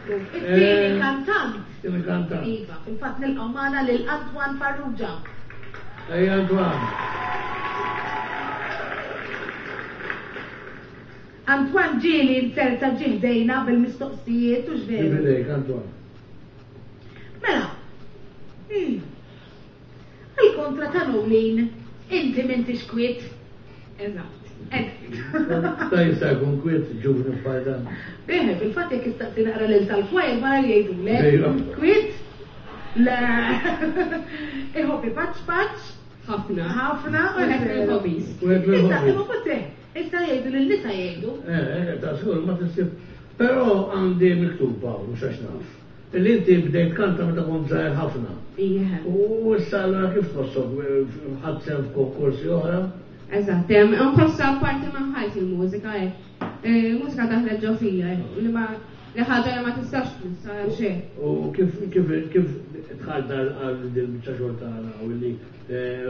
Ekku, it-tieni eh, kantant. Tieni kantant. Iva, fil-fatt nilqgħu magħna lil Antoine Farrugia. Ej Antoine. Antoine ġieli inzerta ġie ħdejna bil-mistoqsijiet hux veru? Ġie Antoine. Mela, hmm. Għal kontra ta' Nolin, inti m'intix kwiet. Eżatt. Ta' jista' jkun kwiet ġuvni bħal dan. Eħe, fil-fatt jekk istaqsi naqra lil tal-kwajr wara li jgħidulek. Kwiet? Le. Iħobbi paċ paċ. Ħafna. Ħafna. U hekk il-hobbies. Issa, imma kotte, issa jgħidu lil nisa jgħidu. Eh, eh, ta' żgur ma tinsib. Però għandi miktuba, mhux għax naf. Illi inti bdejt tkanta meta kont żgħir ħafna. Ija. U issa allura kif tħossok ħadt sehem f'konkorsi oħra? Eżatt, nħossha parti minn ħajti l-mużika hekk. Il-mużika daħlet ġo fija li ma li ħaġa li ma tistax tmissa xejn. U kif kif kif dħalt għal din biċċa xogħol tagħna u li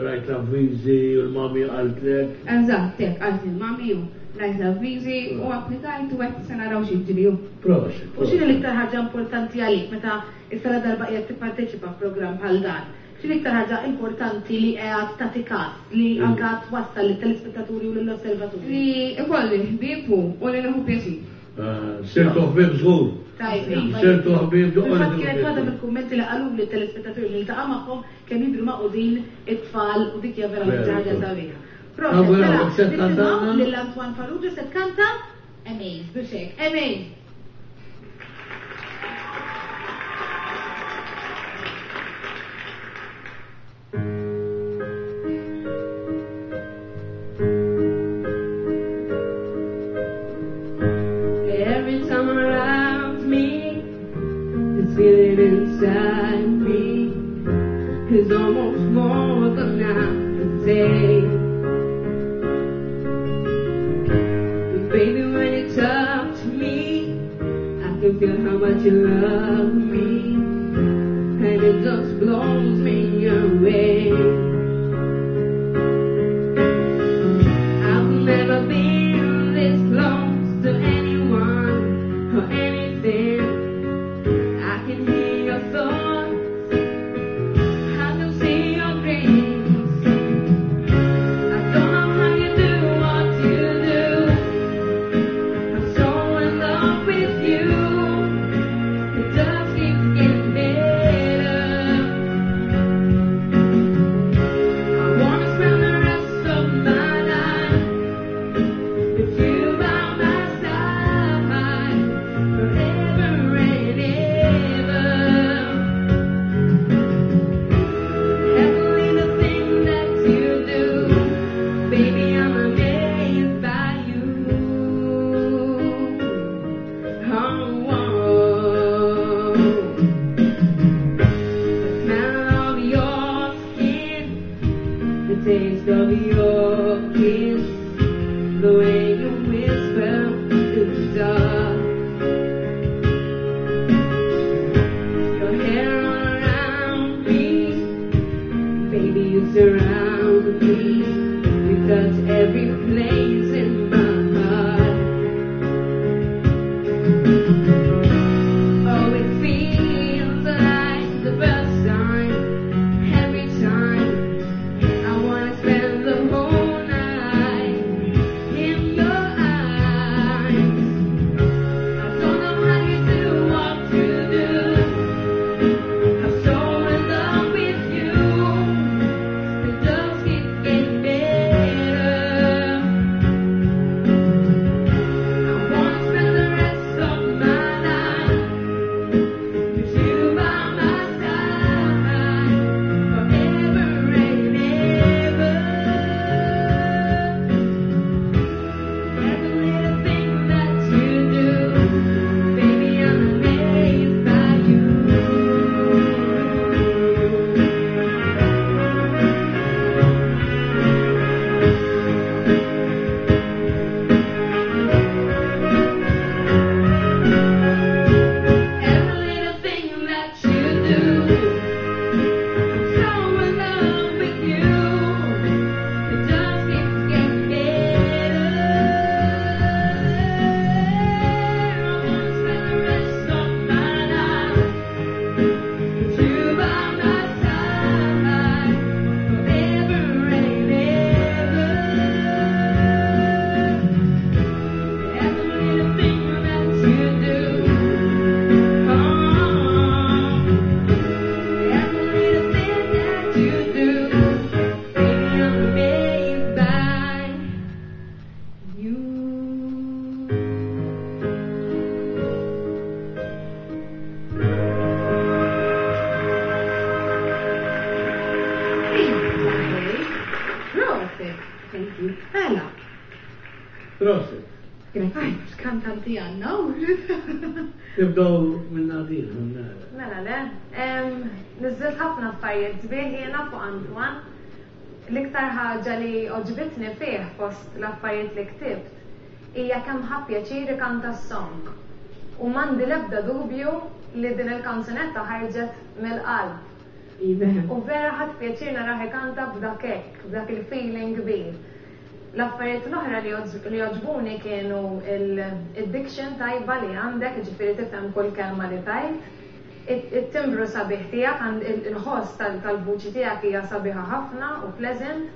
rajt l-avviżi u l-mami qaltlek? Eżatt, hekk qalt il-mami u rajt l-avviżi u applikajt u għedt se naraw x'jiġri. Proset. U x'inhi l-iktar ħaġa importanti għalik meta issa la darba qiegħed tipparteċipa f'programm bħal dan? X'inhi l-iktar ħaġa importanti li qiegħed tagħti kas, li anke twassal lit-telespettaturi u lill-osservaturi? Li ikolli ħbieb u li nieħu pjaċir. Sirtu ħbieb żgur. Tajb, iva. Sirtu ħbieb żgur. Fil-fatt kienet waħda mill-kummenti li qaluli t-telespettaturi li niltaqa' magħhom kemm jidhru magħqudin it-tfal u dik hija verament xi ħaġa sabiħa. Proset, mela, nisimgħu lil Antoine Farrugia se tkanta Amazed, biex hekk, Amazed! Every time around me, this feeling inside me is almost more than I can take. But baby, when you touch me, I can feel how much you love me, and it just blows me away. I've never been this close to anyone or anything. I can hear your thoughts, I can see your dreams. I don't know how you do what you do. I'm so in love with you. It just keeps getting better. I wanna spend the rest of my life with you by my side, forever and ever. Heavenly the thing that you do, baby, I'm amazed by you. Oh, oh. The smell of your skin, the taste of your kiss, the way you whisper in the dark. Your hair all around me, baby, you surround me. You touch every place in my heart. Prosit. X'kantanti għandna. Nibdew minn Nadine. Mela le, niżżilt ħafna affarijiet sbieħ jiena fuq Antoine. L-iktar ħaġa li għoġbitni fih fost l-affarijiet li ktibt hija kemm ħa pjaċir ikanta s-song. U m'għandi l-ebda dubju li din il-kanzunetta ħarġet mill-qalb. U vera ħadt pjaċir narah ikanta b'dak hekk, b'dak il-feeling kbir. L-affarijiet l-oħra li għoġbuni kienu il-diction tajba li għandek, ġifieri tifhem kull kelma li tajt. It-timbru sabiħ tiegħek, il-ħoss tal-vuċi tiegħek hija sabiħa ħafna u pleasant.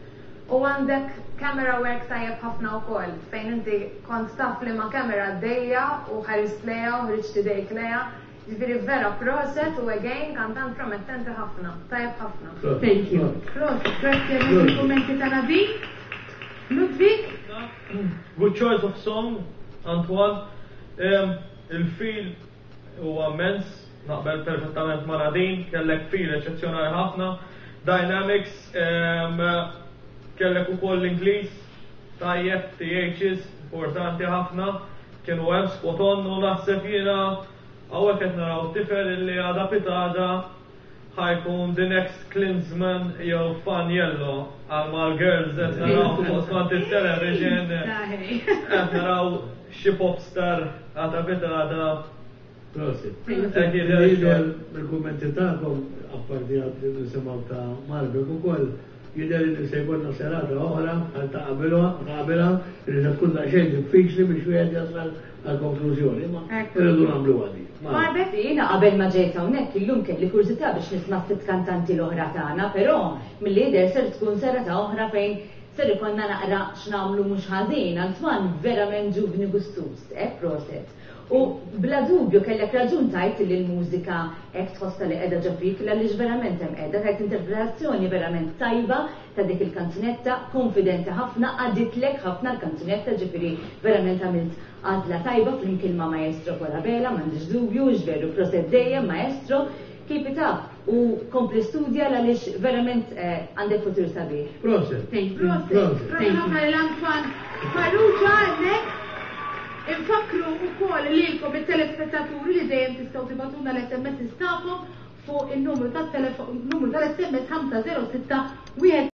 U għandek camera work tajjeb ħafna wkoll, fejn inti kont taf li ma kamera għaddejja u ħarist lejha u ħriġt idejk lejha. Ġifieri vera proset u again kantant promettenti ħafna, tajjeb ħafna. Thank you. Proset, grazzi għal kummenti ta' Nadine. Ludwig? Good choice of song, Antoine. Il-feel huwa immens, naqbel perfettament ma' Nadine, kellek feel eċċezzjonali ħafna. Dynamics, kellek ukoll l-Ingliż, tajjeb, THs, importanti ħafna, kienu hemm spot on u naħseb jiena hawnhekk qed naraw tifel illi għada pitgħada ħa jkun the next Klinsmann jew Faniello għal mal-girls qed naraw fuq skont il-television qed naraw xi popstar għada pitgħada. Prosit. Jidher bil-kummenti tagħkom, apparti għad li nisimgħu ta' Marbeck ukoll, jidher li se jkollna serata oħra bħal ta' qabilha li se tkun daqsxejn diffiċli biex wieħed jasal għal konklużjoni, ma irridu nagħmlu għadi. Marbeck? Jiena qabel ma ġejt hawnhekk illum kelli kurżità biex nisma' s-sitt kantanti l-oħra tagħna, però milli jidher ser tkun serata oħra fejn ser ikollna naqra x'nagħmlu mhux ħażin. Antoine verament ġuvni gustuż, proset. U bla dubju kellek raġun tajt li l-mużika hekk tħossha li qiegħda ġo fik, għaliex verament hemm qiegħda tajt interpretazzjoni verament tajba ta' dik il-kanzunetta, konfidenti ħafna, għaditlek ħafna l-kanzunetta, ġifieri verament għamilt għażla tajba flimkien ma' Maestro Colabella, m'għandix dubju, veru proset dejjem Maestro, keep it up u kompli studja għaliex verament għandek futur sabiħ. Proset. Thank you. Proset. Proset ħafna lil Antoine Farrugia hemmhekk. Infakru wkoll lilkom it-telespettaturi li dejjem tistgħu tibagħtulna l-SMS tagħkom fuq in-numru tat-telefon, numru tal-SMS 506 1.